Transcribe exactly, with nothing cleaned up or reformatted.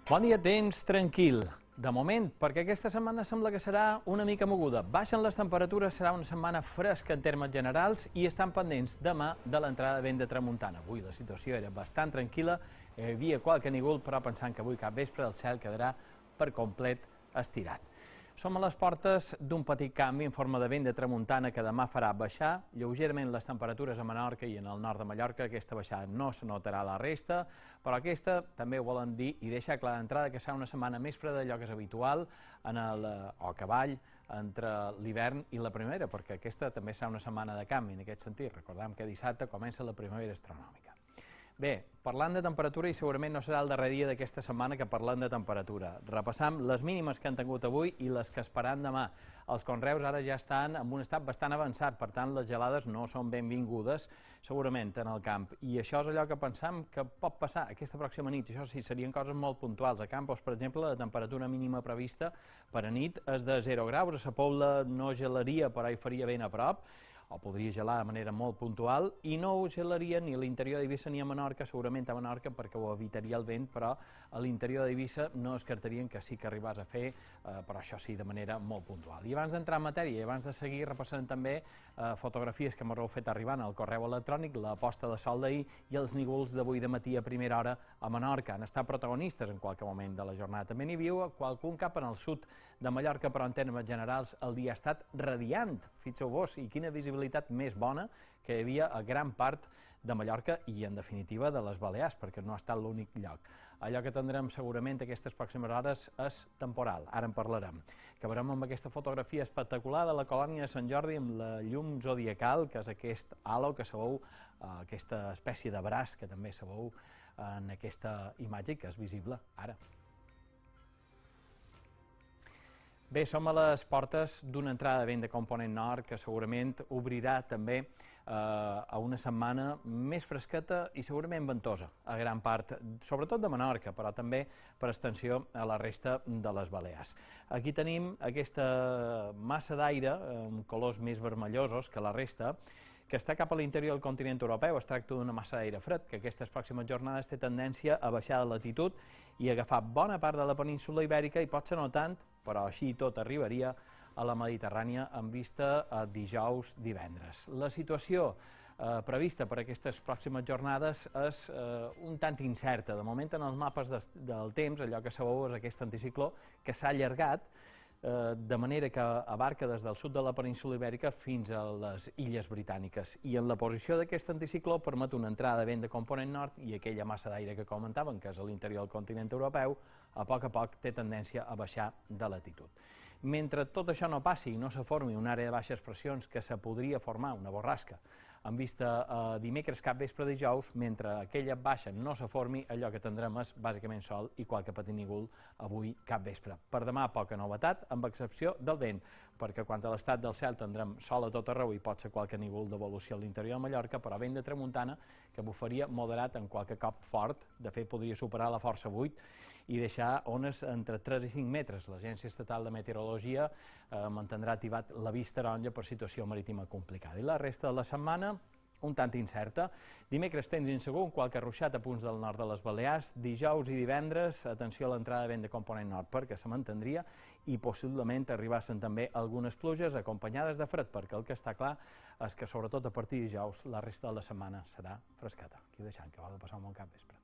Bon dia, temps tranquil. De moment, perquè aquesta setmana sembla que serà una mica moguda. Baixen les temperatures, serà una setmana fresca en termes generals i estan pendents demà de l'entrada de vent de tramuntana. Avui la situació era bastant tranquil·la, hi havia qualque nígol, però pensant que avui cap vespre el cel quedarà per complet estirat. Som a les portes d'un petit canvi en forma de vent de tramuntana que demà farà baixar lleugerament les temperatures a Menorca i en el nord de Mallorca. Aquesta baixada no se notarà a la resta, però aquesta també ho volen dir i deixar clar d'entrada que serà una setmana més freda d'allò que és habitual en el, o a cavall entre l'hivern i la primavera, perquè aquesta també serà una setmana de canvi en aquest sentit. Recordem que dissabte comença la primavera astronòmica. Bé, parlant de temperatura, i segurament no serà el darrer dia d'aquesta setmana que parlem de temperatura. Repassam les mínimes que han tingut avui i les que esperam demà. Els conreus ara ja estan en un estat bastant avançat, per tant les gelades no són benvingudes segurament en el camp. I això és allò que pensam que pot passar aquesta pròxima nit. Això sí, serien coses molt puntuals. A Campos, per exemple, la temperatura mínima prevista per a nit és de zero graus. A Sa Pobla no gelaria, però hi faria ben a prop, o podria gelar de manera molt puntual, i no ho gelaria ni a l'interior d'Eivissa ni a Menorca, segurament a Menorca perquè ho evitaria el vent, però a l'interior d'Eivissa no descartarien que sí que arribés a fer, eh, però això sí, de manera molt puntual. I abans d'entrar en matèria, i abans de seguir repassant també eh, fotografies que m'heu fet arribant al correu electrònic, la posta de sol d'ahir i els nígols d'avui de matí a primera hora a Menorca. Han estat protagonistes en qualque moment de la jornada. També n'hi viu qualcun cap en el sud de Mallorca, però en termes generals el dia ha estat radiant. Fixeu-vos, i quina visibilitat més bona que hi havia a gran part de Mallorca i, en definitiva, de les Balears, perquè no ha estat l'únic lloc. Allò que tindrem segurament aquestes pròximes hores és temporal, ara en parlarem. Acabarem amb aquesta fotografia espectacular de la colònia de Sant Jordi amb la llum zodiacal, que és aquest halo que sabeu, aquesta espècie de braç que també sabeu en aquesta imatge que és visible ara. Bé, som a les portes d'una entrada de vent de component nord que segurament obrirà també eh, a una setmana més fresqueta i segurament ventosa a gran part, sobretot de Menorca, però també per extensió a la resta de les Balears. Aquí tenim aquesta massa d'aire amb colors més vermellosos que la resta, que està cap a l'interior del continent europeu. Es tracta d'una massa d'aire fred que aquestes pròximes jornades té tendència a baixar de latitud i agafar bona part de la península ibèrica i potser no tant, però així i tot arribaria a la Mediterrània en vista a dijous, divendres. La situació eh, prevista per aquestes pròximes jornades és eh, un tant incerta. De moment, en els mapes de, del temps, allò que sabeu és aquest anticicló que s'ha allargat de manera que abarca des del sud de la península ibèrica fins a les illes britàniques. I en la posició d'aquest anticicló permet una entrada de vent de component nord i aquella massa d'aire que comentàvem, que és a l'interior del continent europeu, a poc a poc té tendència a baixar de latitud. Mentre tot això no passi i no se formi una àrea de baixes pressions que se podria formar, una borrasca, en vista a dimecres cap vespre dijous, mentre aquella baixa no se formi, allò que tindrem és bàsicament sol i qualque petit nígol avui cap vespre. Per demà poca novetat, amb excepció del vent, perquè quant a l'estat del cel tindrem sol a tot arreu i pot ser qualque nígol d'evolució a l'interior de Mallorca, però vent de tramuntana que bufaria moderat en qualque cop fort, de fet podria superar la força vuit i deixar ones entre tres i cinc metres. L'Agència Estatal de Meteorologia eh, mantindrà activat l'avís taronja per situació marítima complicada. I la resta de la setmana, un tant incerta. Dimecres temps insegur, qualque ruixat a punts del nord de les Balears. Dijous i divendres, atenció a l'entrada de vent de component nord, perquè se mantindria i possiblement arribassen també algunes pluges acompanyades de fred, perquè el que està clar és que sobretot a partir de dijous la resta de la setmana serà fresqueta. Aquí ho deixem, que va de passar un bon cap vespre.